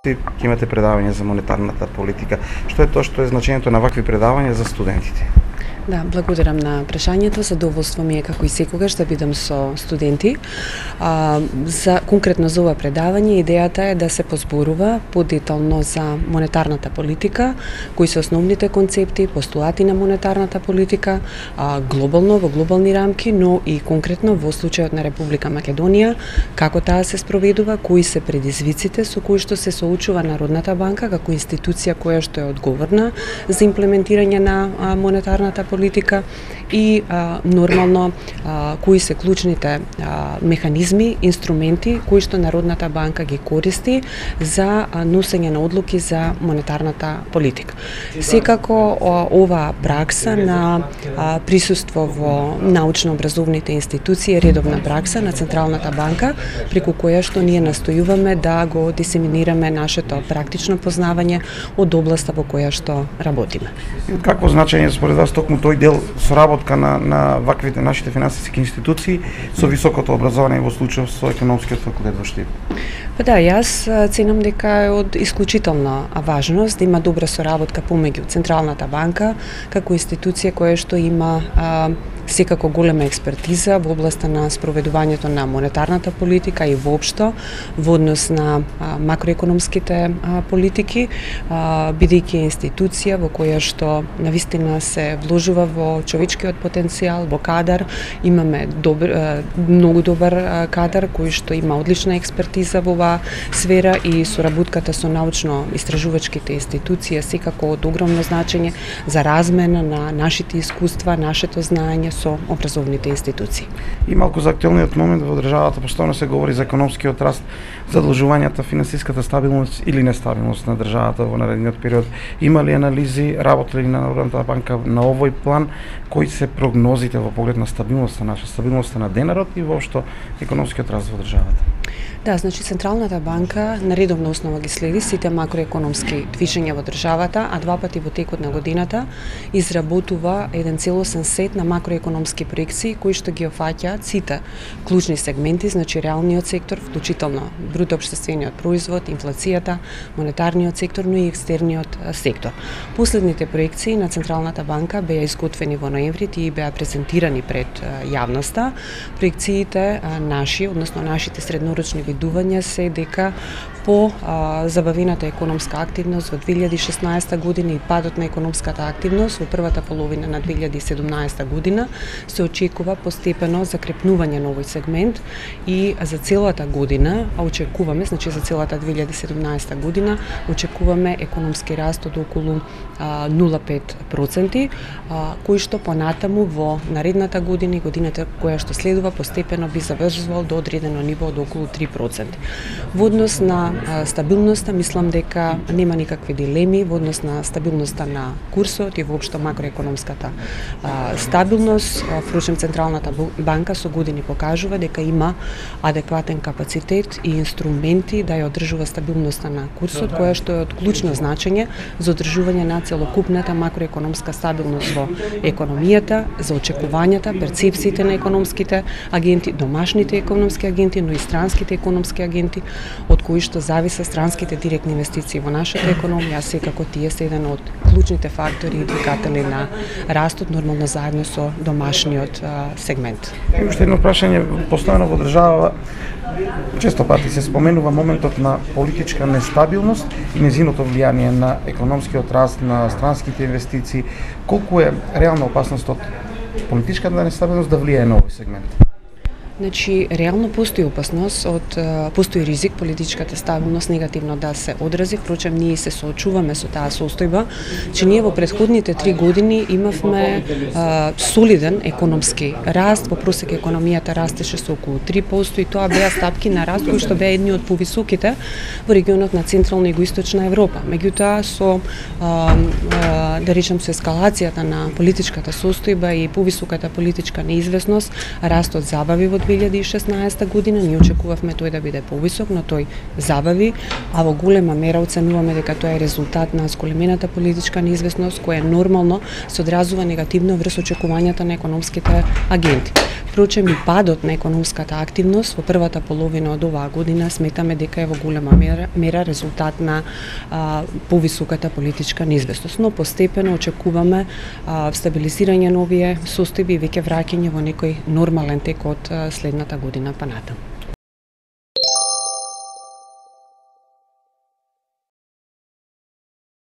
Ќе имате предавање за монетарната политика. Што е тоа што е значењето на вакви предавања за студентите? Да, благодарам на прашањето. Задоволство ми е како и секогаш да бидам со студенти. Конкретно за ова предавање идејата е да се позборува подетално за монетарната политика, кои се основните концепти, постулати на монетарната политика, глобално во глобални рамки, но и конкретно во случајот на Република Македонија, како таа се спроведува, кои се предизвиците со кои што се соочува Народната банка како институција која што е одговорна за имплементирање на монетарната политика и нормално кои се клучните механизми, инструменти кои што Народната банка ги користи за носење на одлуки за монетарната политика. Секако ова пракса на присуство во научно-образовните институции е редовна пракса на Централната банка, преку која што ние настојуваме да го дисеминираме нашето практично познавање од областа во која што работиме. Какво значење според вас токму тој дел соработка на ваквите нашите финансиски институции со високото образование во случај со економскиот факултет во Штип? Па да, јас ценам дека е од исклучителна важност да има добра соработка помеѓу Централната банка како институција која што има секако голема експертиза во областа на спроведувањето на монетарната политика и воопшто во однос на макроекономските политики, бидејќи институција во која што навистина се вложува во човечкиот потенцијал, во кадар, имаме многу добар кадар кој што има одлична експертиза во оваа сфера и соработката со научно-истражувачките институции е секако од огромно значење за размена на нашите искуства, нашето знаење со образовните институции. И малку за актуелниот момент во државата постојано се говори за економскиот раст, задолжувањата, финансиската стабилност или нестабилност на државата во наредниот период. Има ли анализи, работи ли на Народната банка на овој план, кои се прогнозите во поглед на стабилноста на денарот и воопшто економскиот раст во државата? Да, значи Централната банка на редовна основа ги следи сите макроекономски движења во државата, а два пати во текот на годината изработува еден целосен сет на макроекономски проекции кои што ги опфаќаат сите клучни сегменти, значи реалниот сектор, вклучително брутоопштествениот производ, инфлацијата, монетарниот сектор, но и екстерниот сектор. Последните проекции на Централната банка беа изготвени во ноември и беа презентирани пред јавноста. Проекциите наши, односно нашите среднорочни видувања се дека по забавената економска активност во 2016 година и падот на економската активност во првата половина на 2017 година се очекува постепено закрепнување на овој сегмент и за целата година очекуваме, значи за целата 2017 година очекуваме економски раст од околу 0,5%, кој што понатаму во наредната година и годината која што следува постепено би завршувал до одредено ниво од околу 3%. Во однос на стабилноста, мислам дека нема никакви дилеми во однос на стабилноста на курсот и воопшто макроекономската стабилност. Впрочем, Централната банка со години покажува дека има адекватен капацитет и инструменти да ја одржува стабилноста на курсот, која што е од клучно значење за одржување на целокупната макроекономска стабилност во економијата, за очекувањата, перцепциите на економските агенти, домашните економски агенти, но и странските економски агенти, од кои што зависа странските директни инвестиции во нашата економија, а секако тие се еден од клучните фактори и двигатели на растот, нормално заедно со домашниот сегмент. Уште едно прашање, постојано во држава често пати се споменува моментот на политичка нестабилност и незиното влијание на економскиот раст, на странските инвестиции. Колку е реална опасност од политичката нестабилност да влијае на овој сегмент? Значи, реално постои опасност постои ризик политичката стабилност негативно да се одрази, впрочем ние се соочуваме со таа состојба, че ние во претходните 3 години имавме солиден економски раст, во просек економијата растеше со околу 3% и тоа беа стапки на раст кои што беа едни од повисоките во регионот на Централна и Југоисточна Европа. Меѓутоа со да речем со ескалацијата на политичката состојба и повисоката политичка неизвестност, растот забави во 2016 година, ние очекувавме тој да биде повисок, но тој забави, а во голема мера оценуваме дека тоа е резултат на зголемената политичка неизвестност која нормално се одразува негативно врз очекувањата на економските агенти. Впрочем, и падот на економската активност во првата половина од оваа година сметаме дека е во голема мера резултат на повисоката политичка неизвестност, но постепено очекуваме стабилизирање на овие состојби и веќе враќање во некој нормален тек од следната година па натаму.